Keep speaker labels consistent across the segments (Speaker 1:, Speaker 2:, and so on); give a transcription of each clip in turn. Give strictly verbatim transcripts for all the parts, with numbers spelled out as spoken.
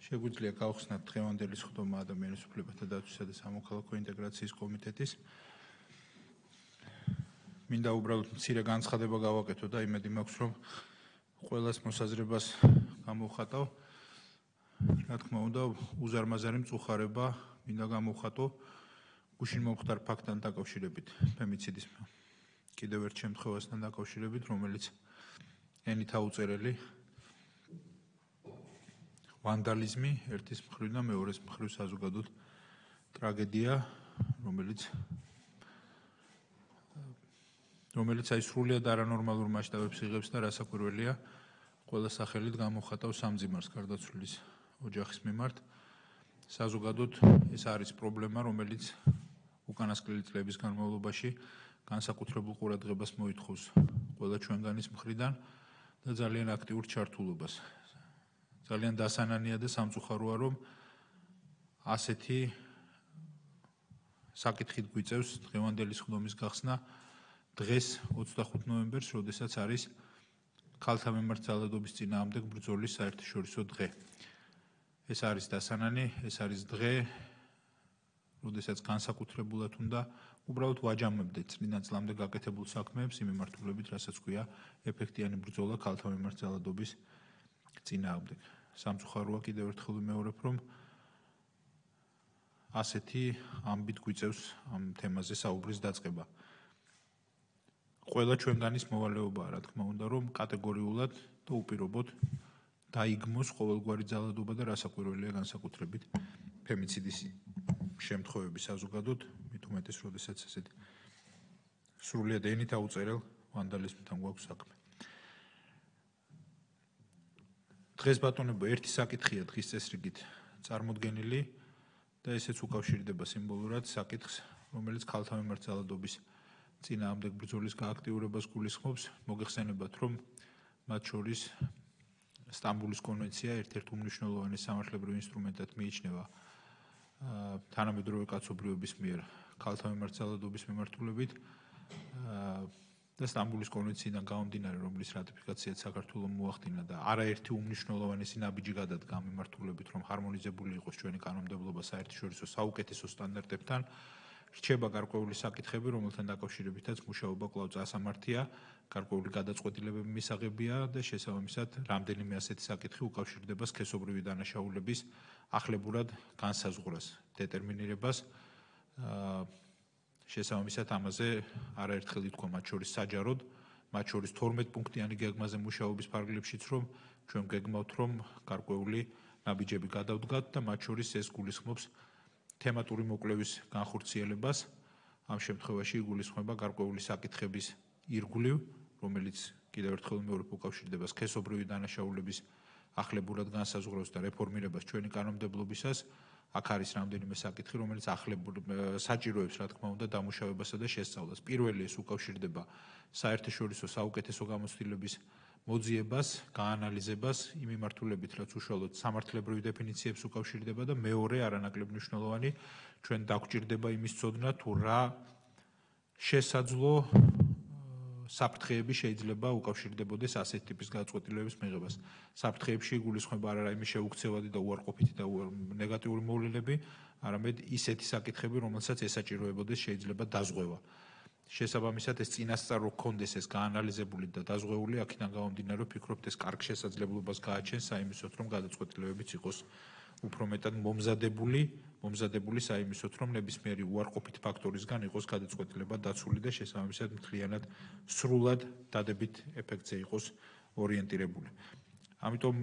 Speaker 1: შეგვიძლია გავხსნათ დღევანდელი სხდომა ადამიანის უფლებათა დაცვისა და სამოქალაქო ინტეგრაციის კომიტეტის. მინდა უბრალოდ მცირე განცხადება გავაკეთო და იმედი მაქვს, რომ ყველას მოსაზრებას გამოვხატავ. რა თქმა უნდა, უზარმაზარი მწუხარება მინდა გამოვხატო გუშინ მომხდარ ფაქტთან დაკავშირებით, ფემიციდის კიდევ ერთ შემთხვევასთან დაკავშირებით, რომელიც ენით აუწერელი ვანდალიზმი ერთის მხრივ და მეორეს მხრივ საზოგადოდ ტრაგედია, რომელიც რომელიც აი სრულიად არანორმალურ მასშტაბებს იღებს და რასაკვირველია, ყველა სახელით გამოვხატავს სამძიმარს გარდაცვლილის ოჯახის მიმართ. საზოგადოდ ეს არის პრობლემა, რომელიც უკანასკნელი წლების განმავლობაში განსაკუთრებულ ყურადღებას მოითხოვს ყველა ჩვენგანის მხრიდან და ძალიან აქტიურ ჩართულობას. ძალიან დასანანია და სამწუხაროა, რომ ასეთი საკითხით გვიწევს დღევანდელი სხდომის გახსნა დღეს ოცდახუთ ნოემბერს, როდესაც არის ქალთა მიმართ ძალადობის წინააღმდეგ ბრძოლის საერთაშორისო დღე. ეს არის დასანანი, ეს არის დღე, როდესაც განსაკუთრებულად უნდა უბრალოდ ვაჯამებდეთ წლიდან წლამდე გაკეთებულ საქმეებს იმ მიმართულებით, რასაც ქვია ეფექტიანი ბრძოლა ქალთა მიმართ ძალადობის წინააღმდეგ. სამწუხაროა კიდევ ერთხელ ვიმეორებ, რომ ასეთი ამბით გვიწევს ამ თემაზე საუბრის დაწყება. ყველა ჩვენგანის მოვალეობაა, რა თქმა უნდა, რომ კატეგორიულად და უპირობოდ დაიგმოს ყოველგვარი ძალადობა და რასაკვირველია განსაკუთრებით ფემიციდის შემთხვევები საზოგადოდ, მით უმეტეს, როდესაც ესეთი სრულიად ენით აუწერელ ვანდალიზმთან გვაქვს საქმე. დღეს ბატონებო, ერთი საკითხია დღის წესრიგით წარმოდგენილი და ესეც უკავშირდება სიმბოლურად საკითხს, რომელიც ქალთა მიმართ ძალადობის წინააღმდეგ ბრძოლის გააქტიურებას გულისხმობს. მოგეხსენებათ, რომ მათ შორის სტამბულის კონვენცია ერთ-ერთ უმნიშვნელოვანეს სამართლებრივ ინსტრუმენტად მიიჩნევა თანამედროვე კაცობრიობის მიერ ქალთა მიმართ ძალადობის მიმართულებით და სტამბულის კონვენციიდან გამომდინარე, რომლის რატიფიკაციაც საქართველომ მოახდინა და არაერთი უმნიშვნელოვანესი ნაბიჯი გადადგა ამ მიმართულებით, რომ ჰარმონიზებული იყოს ჩვენი კანონმდებლობა საერთაშორისო საუკეთესო სტანდარტებთან, რჩება გარკვეული საკითხები, რომელთან დაკავშირებითაც მუშაობა კვლავ წასამართია, გარკვეული გადაწყვეტილებები მისაღებია და შესაბამისად რამდენიმე ასეთი საკითხი უკავშირდება სქესობრივი დანაშაულების ახლებურად განსაზღვრას, დეტერმინირებას. შესაბამისად ამაზე არაერთხელ ითქვა მათ შორის საჯაროდ, მათ შორის თორმეტ პუნქტიანი გეგმაზე მუშაობის ფარგლებშიც, რომ ჩვენ გეგმავთ, რომ გარკვეული ნაბიჯები გადავდგათ და მათ შორის ეს გულისხმობს თემატური მოკვლევის განხორციელებას. ამ შემთხვევაში იგულისხმება გარკვეული საკითხების ირგვლივ, რომელიც კიდევ ერთხელ ვიმეორებ უკავშირდება სქესობრივი დანაშაულების ახლებურად განსაზღვრავს და რეფორმირებას ჩვენი კანონმდებლობისას. აქ არის რამდენიმე საკითხი, რომელიც ახლებურად საჭიროებს, რა თქმა უნდა, დამუშავებასა და შესწავლას. პირველი ეს უკავშირდება საერთაშორისო საუკეთესო გამოცდილების მოძიებას, გაანალიზებას იმ მიმართულებით, რაც უშუალოდ სამართლებრივ დეფინიციებს უკავშირდება და მეორე არანაკლებ მნიშვნელოვანი ჩვენ დაგვჭირდება იმის ცოდნა, თუ რა შესაძლო საფრთხეები შეიძლება უკავშირდებოდეს ასეთ ტიპის გადაწყვეტილებების მიღებას. საფრთხეებში იგულისხმება არა რაიმე შეუქცევადი და უარყოფითი და ნეგატიური მოვლენები, არამედ ისეთი საკითხები, რომელსაც ესაჭიროებოდეს შეიძლება დაზღვევა. შესაბამისად ეს წინასწარ რო გქონდეს ეს გაანალიზებული და დაზღვეული, აქედან გამომდინარე ვფიქრობთ ეს კარგ შესაძლებლობას გააჩენს საიმისოთ, რომ გადაწყვეტილებებიც იყოს უფრო მეტად მომზადებული, მომზადებული საიმისოთ, რომ ნებისმიერი უარყოფით ფაქტორისგან იყოს გადაწყვეტილება დაცული და შესაბამისად მთლიანად სრულად დადებით ეფექტზე იყოს ორიენტირებული. ამიტომ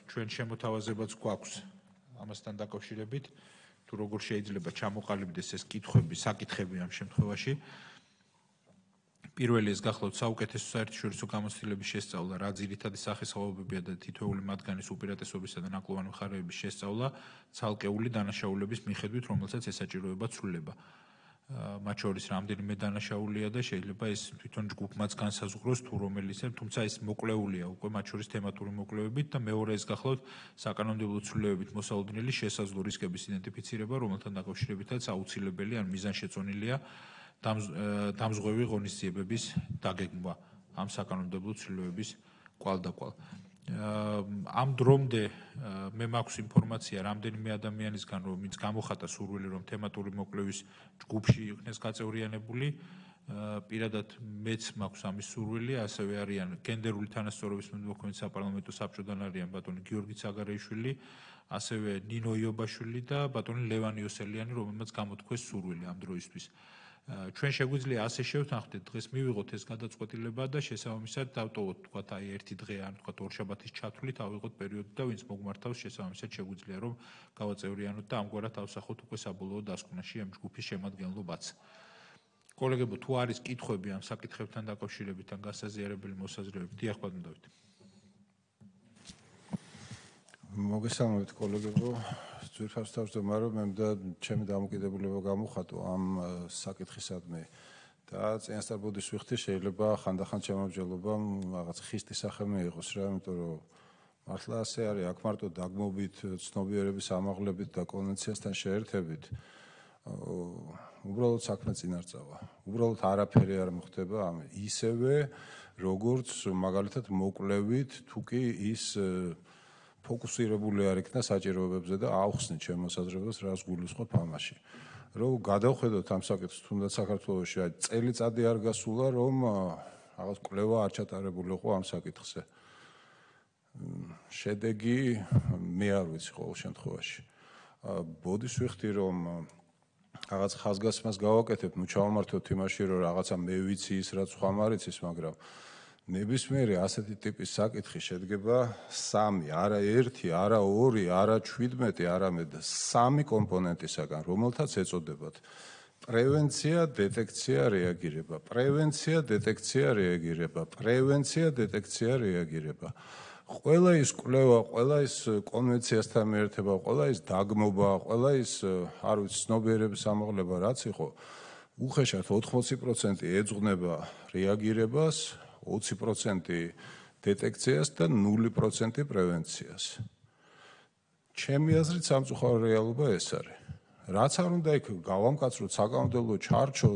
Speaker 1: ჩვენ შემოთავაზებაც გვაქვს ამასთან დაკავშირებით, თუ როგორ შეიძლება ჩამოყალიბდეს ეს კითხვები, საკითხები ამ შემთხვევაში. პირველი ეს გახლავთ საუკეთესო საერთაშორისო გამოცდილების შესწავლა, რა ძირითადი სახესხვაობებია და თითოეული მათგანის უპირატესობისა და ნაკლოვანი მხარეების შესწავლა ცალკეული დანაშაულების მიხედვით, რომელსაც ესაჭიროება ცვლილება. მათ შორის რამდენიმე დანაშაულია და შეიძლება ეს თვითონ ჯგუფმაც განსაზღვროს, თუ რომელიც, თუმცა ეს მოკლეულია უკვე მათ შორის თემატური მოკლევებით და მეორე ეს გახლავთ საკანონმდებლო ცვლილებებით მოსალოდნელი შესაძლო რისკების იდენტიფიცირება, რომელთან დაკავშირებითაც აუცილებელი ან მიზანშეწონილია დამზღვევი ღონისძიებების დაგეგმვა ამ საკანონმდებლო ცვლილებების კვალდაკვალ. ამ დრომდე მე მაქვს ინფორმაცია რამდენიმე ადამიანისგან, რომ ვინც გამოხატა სურვილი, რომ თემატური მოკვლევის ჯგუფში იქნეს გაწევრიანებული. პირადად მეც მაქვს ამის სურვილი, ასევე არიან გენდერული თანასწორობის მოქმედი საპარლამენტო საბჭოდან არიან ბატონი გიორგი ცაგარეიშვილი, ასევე ნინო იობაშვილი და ბატონი ლევან იოსელიანი, რომელმაც გამოთქვეს სურვილი ამ დროისთვის. ჩვენ შეგვიძლია ასე შევთანხმდეთ, დღეს მივიღოთ ეს გადაწყვეტილება და შესაბამისად დავტოვოთ თქვათ აი ერთი დღე ან თქვათ ორშაბათის ჩათვლით ავიღოთ პერიოდი და ვინც მოგმართავს შესაბამისად შეგვიძლია რომ გავაწევრიანოთ და ამგვარად ავსახოთ უკვე საბოლოო დასკვნაში ამ ჯგუფის შემადგენლობაც. კოლეგებო, თუ არის კითხვები ამ საკითხებთან დაკავშირებით ან გასაზიარებელი მოსაზრებები, დიახ ბატონ დავით.
Speaker 2: მოგესალმებით კოლეგებო, ძვირფას თავმჯდომარე, რომ მე და ჩემი დამოკიდებულება გამოხატო ამ საკითხისადმი და წინასწარ ბოდის ვიხდი, შეიძლება ხანდახან შემოგვეძლება რაღაც ხისტი სახე მიიღოს რა, იმიტომ რომ მართლა ასე არის, აქ მარტო დაგმობით, ცნობიერების ამაღლებით და კონვენციასთან შეერთებით უბრალოდ საქმე წინარწავა. უბრალოდ არაფერი არ მოხდება ამ ისევე როგორც მაგალითად მოკვლევით თუ კი ის ფოკუსირებული არ იქნა საჭიროებებზე და აუხსნით ჩემ მოსაზრებას რას გულისხმობ ამაში. რომ გადავხედოთ ამ საკითხს თუნდაც საქართველოში წელიწადი არ გასულა რომ რაღაც კვლევა არ ჩატარებულიყო ამ საკითხზე. შედეგი მე არ ვიცი ყოველ შემთხვევაში. ბოდის ვიხდი რომ რაღაც ხაზგასმას გავაკეთებ, ნუ ჩავმართოთ იმაში რომ რაღაცა მე ვიცი ის რაც ხომ არ იცის, მაგრამ ნებისმიერი ასეთი ტიპის საკითხი შედგება სამი, არა ერთი, არა ორი, არა ჩვიდმეტი, არამედ სამი კომპონენტისაგან, რომელთაც ეწოდებათ პრევენცია, დეტექცია, რეაგირება, პრევენცია, დეტექცია, რეაგირება, პრევენცია, დეტექცია, რეაგირება. ყველა ის კვლევა, ყველა ის კონვენციასთან მიერთება, ყველა ის დაგმობა, ყველა ის არ ვიცი ცნობიერების ამაღლება რაც იყო, უხეშად ოთხმოცი პროცენტი ეძღვნება რეაგირებას, ოცი პროცენტი დეტექციას და ნული პროცენტი პრევენციას. ჩემი აზრით სამწუხარო რეალობა ეს არის. რაც არ უნდა იქ გავამკაცროთ, საკანონმდებლო ჩარჩო,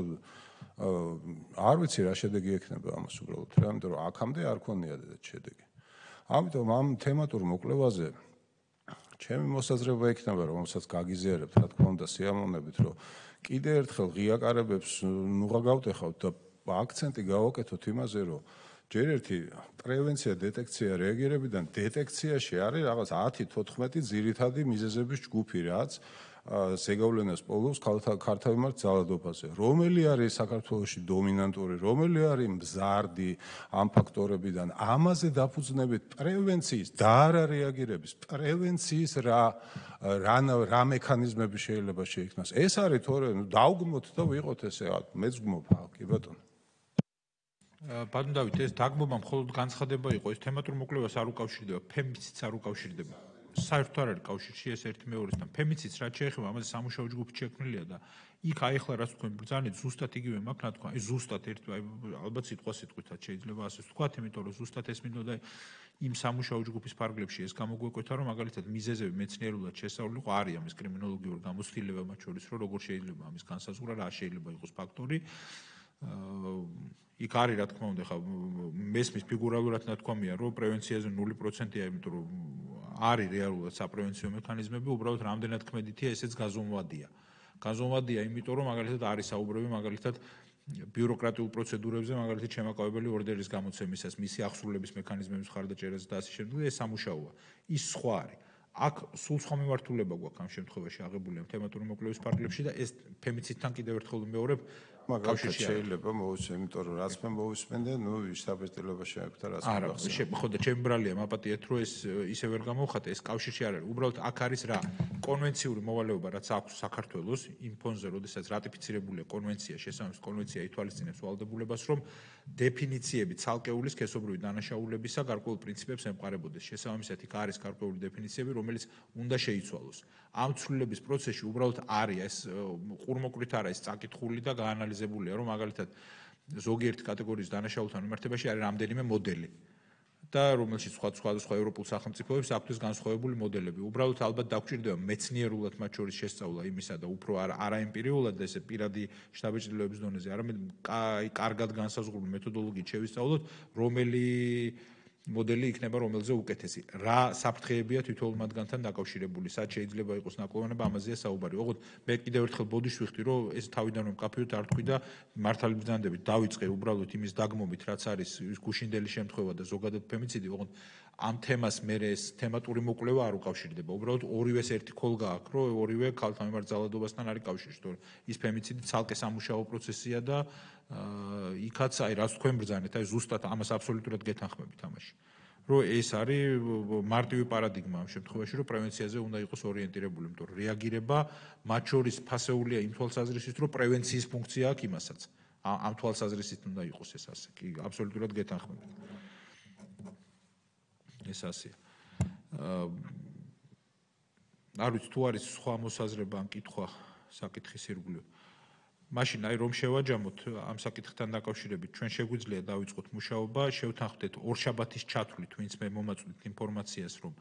Speaker 2: არ ვიცი რა შედეგი ექნება ამას უბრალოდ, რა, იმიტომ რომ აქამდე არ ქონია შედეგი. ამიტომ ამ თემატურ მოკვლევაზე ჩემი მოსაზრება იქნება, რომელსაც გაგიზიარებთ, რა თქმა უნდა, სიამოვნებით, რომ კიდე ერთხელ ღიაკარებებს ნუღა გავტეხავთ და აქცენტი გავაკეთოთ იმაზე, რომ ჯერ ერთი პრევენცია, დეტექცია, რეაგირებიდან დეტექციაში არის რაღაც ათი თოთხმეტი ძირითადი მიზეზების ჯგუფი, რაც ზეგავლენას პოულობს ქართავი ძალადობაზე. რომელი არის საქართველოში დომინანტური, რომელი არის მზარდი ამ ფაქტორებიდან, ამაზე დაფუძნებით პრევენციის და არა რეაგირების, პრევენციის რა რა მექანიზმები შეიძლება შეიქმნას. ეს არის თორე დავგმოთ და ვიყოთ ესე, მეც გმობ, კი ბატონო.
Speaker 1: ბატონ დავით, ეს დაგმობა მხოლოდ განცხადება იყო, ეს თემატურ მოკვლევას არ უკავშირდება, ფემიციც არ უკავშირდება. საერთოდ არ არის კავშირში ეს ერთი მეორესთან. ფემიციც რაც შეეხება, ამაზე სამუშაო ჯგუფი შექმნილია და იქ აი ახლა რაც თქვენ ბრძანეთ, ზუსტად იგივე მაქვს რა თქვა, აი ზუსტად ერთი ალბათ სიტყვა სიტყვითაც შეიძლება ასე ვთქვათ, იმიტომ რომ ზუსტად ეს მინდოდა იმ სამუშაო ჯგუფის ფარგლებში ეს გამოგვეკვეთა, რომ მაგალითად მიზეზები მეცნიერულად შესწავლილი ყო არის ამის კრიმინოლოგიური გამოცდილება მათ შორის, რომ როგორ შეიძლება ამის განსაზღვრა, რა შეიძლება იყოს ფაქტორი. იქ არის რა თქმა უნდა, ხა მესმის ფიგურალურად ნათქვამია, რომ პრევენციაზე ნული პროცენტია, იმიტომ რომ არის რეალურად საპრევენციო მექანიზმები, უბრალოდ რამდენად ქმედითია, ესეც გაზომვადია. გაზომვადია, იმიტომ რომ მაგალითად არის საუბრები მაგალითად ბიუროკრატიულ პროცედურებზე, მაგალითად შემაკავებელი ორდერის გამოცემისას, მისი აღსრულების მექანიზმების მხარდაჭერაზე და ასე შემდეგ, ეს სამუშაოა. ის სხვა არის. აქ სულ სხვა მიმართულება გვაქვს ამ შემთხვევაში აღებული ამ თემატური მოკვლევის ფარგლებში და ეს ფემიციდთან კიდევ ერთხელ ვიმეორებ,
Speaker 2: მაგალითად შეიძლება მოვისმენ, იმიტომ რომ რაც მე მოვისმენდე, ნუ შტაბ-ეტილება შეაქვს და რაც
Speaker 1: მოგახსენე. ხო და ჩემი ბრალია მაპატიეთ, რომ ეს ისე ვერ გამოვხატე, ეს კავშირში არ არის. უბრალოდ აქ არის რა კონვენციური მოვალეობა, რაც აქვს საქართველოს იმ ფონზე, როდესაც რატიფიცირებულია კონვენცია, შესაბამის კონვენცია ითვალისწინებს ვალდებულებას, რომ დეფინიციები ცალკეული სქესობრივი დანაშაულებისა გარკვეულ პრინციპებს ემყარებოდეს. შესაბამისად, იქ არის გარკვეული დეფინიციები, რომელიც უნდა შეიცვალოს. ამ ცვლილების პროცესში უბრალოდ არის ეს ყურმოկვრით არა ეს წაკითხული და გაანალიზებულია, რომ მაგალითად ზოგიერთი კატეგორიის დანაშაულთან მიმართებაში არის რამდენიმე მოდელი და რომელშიც სხვა სხვა სხვა ევროპულ სახელმწიფოებს აქვთ განსხვავებული მოდელები. უბრალოდ ალბათ დაგჭირდება მეცნიერულად მათ შორის შესწავლა იმისა და უფრო არა ემპირიულად და ესე პირადი შტაბ-ეტილების დონეზე, არამედ აი კარგად განსაზღვრული მეთოდოლოგიით შევისწავლოთ, რომელი მოდელი იქნება რომელზე უკეთესი. რა საფრთხეებია თითოეულ მათგანთან დაკავშირებული, სად შეიძლება იყოს ნაკლოვანება, ამაზეა საუბარი. ოღონდ მე კიდევ ერთხელ ბოდიში ვიხდი, რომ ეს თავიდან რომ მკაფიოდ არ თქვი და მართალი ბრძანდებით დავიწყე უბრალოდ იმის დაგმობით, რაც არის გუშინდელი შემთხვევა და ზოგადად ფემიციდი, ოღონდ ამ თემას მე ეს თემატური მოკვლევა არ უკავშირდება. უბრალოდ ორივეს ერთი ქოლგა აქვს, რომ ორივე ქალთან მიმართ ძალადობასთან არის კავშირში, თორე ის ფემიციდი ცალკე სამუშაო პროცესია და იქაც აი რაც თქვენ ბრძანეთ, აი ზუსტად ამას აბსოლუტურად გეთანხმებით ამაში. რომ ეს არის მარტივი პარადიგმა ამ შემთხვევაში, რომ პრევენციაზე უნდა იყოს ორიენტირებული, იმიტომ რომ რეაგირება მათ შორის ფასეულია იმ თვალსაზრისით, რომ პრევენციის ფუნქცია აქვს იმასაც. ამ თვალსაზრისით უნდა იყოს ეს ასე. კი, აბსოლუტურად გეთანხმებით. ეს ასეა. არ ვიცი თუ არის სხვა მოსაზრება ან კითხვა საკითხის ირგვლივ. მაშინ აი რომ შევაჯამოთ ამ საკითხთან დაკავშირებით, ჩვენ შეგვიძლია დავიწყოთ მუშაობა, შევთანხმდეთ ორშაბათის ჩათვლით, ვინც მე მომაწვდით ინფორმაციას, რომ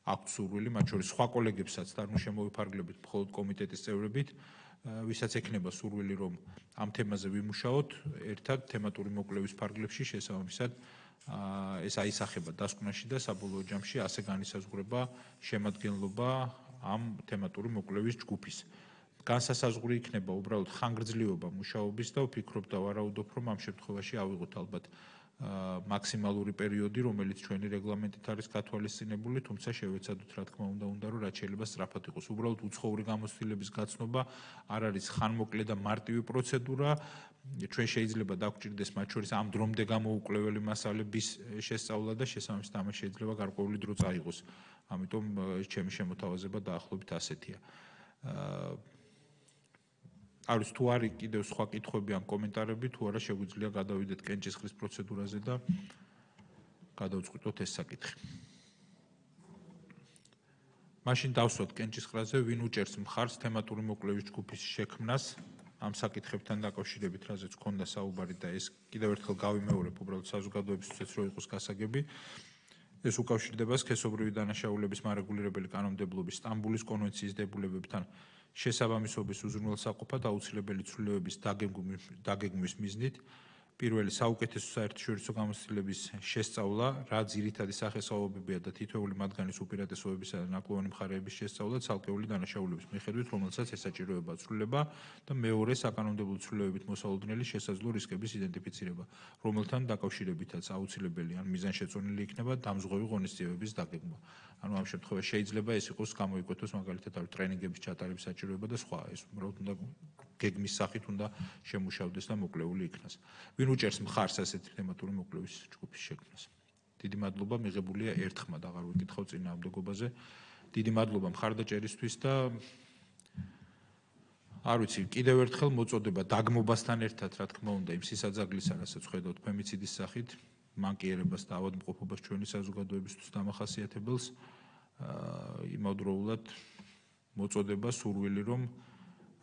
Speaker 1: აქვთ სურვილი, მათ შორის სხვა კოლეგებსაც და ნუ შემოვიფარგლებით მხოლოდ კომიტეტის წევრებით, ვისაც ექნება სურვილი, რომ ამ თემაზე ვიმუშაოთ, ერთად თემატური მოკვლევის ფარგლებში შესაბამისად ეს აისახება დასკვნაში და საბოლოო ჯამში ასე განისაზღვრება შემადგენლობა ამ თემატური მოკვლევის ჯგუფის. განსასაზღვრი იქნება უბრალოდ ხანგრძლივობა მუშაობის და ვფიქრობ და ვარაუდობ, რომ ამ შემთხვევაში ავიღოთ ალბათ მაქსიმალური პერიოდი, რომელიც ჩვენი რეგლამენტით არის გათვალისწინებული, თუმცა შევეცადოთ, რა თქმა უნდა, უნდა რომ რაც შეიძლება სწრაფად იყოს. უბრალოდ უცხოური გამოცდილების გაცნობა არ არის ხანმოკლე და მარტივი პროცედურა. ჩვენ შეიძლება დაგვჭირდეს მათ შორის ამ დრომდე გამოუკლეველი მასალების შესწავლა და შესაბამისად ამას შეიძლება გარკვეული დრო წაიღოს. ამიტომ ჩემი შემოთავაზება დაახლოებით ასეთია. არ ვიცი თუ არის კიდევ სხვა კითხვები ან კომენტარები, თუ არა შეგვიძლია გადავიდეთ კენჭისყრის პროცედურაზე და გადავწყვიტოთ ეს საკითხი. მაშინ დავსვათ კენჭისყრაზე, ვინ უჭერს მხარს თემატური მოკვლევის ჯგუფის შექმნას ამ საკითხებთან დაკავშირებით, რაზეც ჰქონდა საუბარი და ეს კიდევ ერთხელ გავიმეორებ, უბრალოდ საზოგადოებისთვის რო იყოს გასაგები. ეს უკავშირდება სქესობრივი დანაშაულების მარეგულირებელი კანონმდებლობის სტამბულის კონვენციის დებულებებთან შესაბამისობის უზრუნველსაყოფად აუცილებელი ცვლილებების დაგეგმვის მიზნით. პირველი საუკეთესო საერთაშორისო გამოცდილების შესწავლა, რა ძირითადი სახესხვაობებია და თითოეული მათგანის უპირატესობებისა და ნაკლოვანი მხარეების შესწავლა ცალკეული დანაშაულების მიხედვით, რომელსაც ესაჭიროება ცვლილება და მეორე საკანონმდებლო ცვლილებებით მოსალოდნელი შესაძლო რისკების იდენტიფიცირება, რომელთან დაკავშირებითაც აუცილებელი ან მიზანშეწონილი იქნება დამზღვევი ღონისძიებების დაგეგმვა. ანუ ამ შემთხვევაში შეიძლება ეს იყოს გამოიკვეთოს მაგალითად არის ტრენინგების ჩატარების საჭიროება და სხვა, ეს უბრალოდ უნდა გეგმის სახით უნდა შემუშავდეს და მოკლეული იქნას. ვინ უჭერს მხარს ასეთი თემატური მოკვლევის ჯგუფის შექმნას? დიდი მადლობა, მიღებულია ერთხმად, აღარ ვიკითხავ წინააღმდეგობაზე. დიდი მადლობა მხარდაჭერისთვის და არ ვიცი, კიდევ ერთხელ მოწოდება დაგმობასთან ერთად, რა თქმა უნდა, იმ სისაძაგლისა, რასაც ხედავთ ფემიციდის სახით, მანკიერებას და ავადმყოფობას ჩვენი საზოგადოებისთვის დამახასიათებელს, იმავდროულად მოწოდება სურვილი, რომ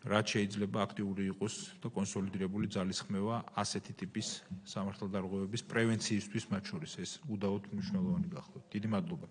Speaker 1: რაც შეიძლება აქტიური იყოს და კონსოლიდირებული ძალისხმევა ასეთი ტიპის სამართალდარღვევების პრევენციისთვის მათ შორის ეს უდაოდ მნიშვნელოვანი გახლავთ. დიდი მადლობა.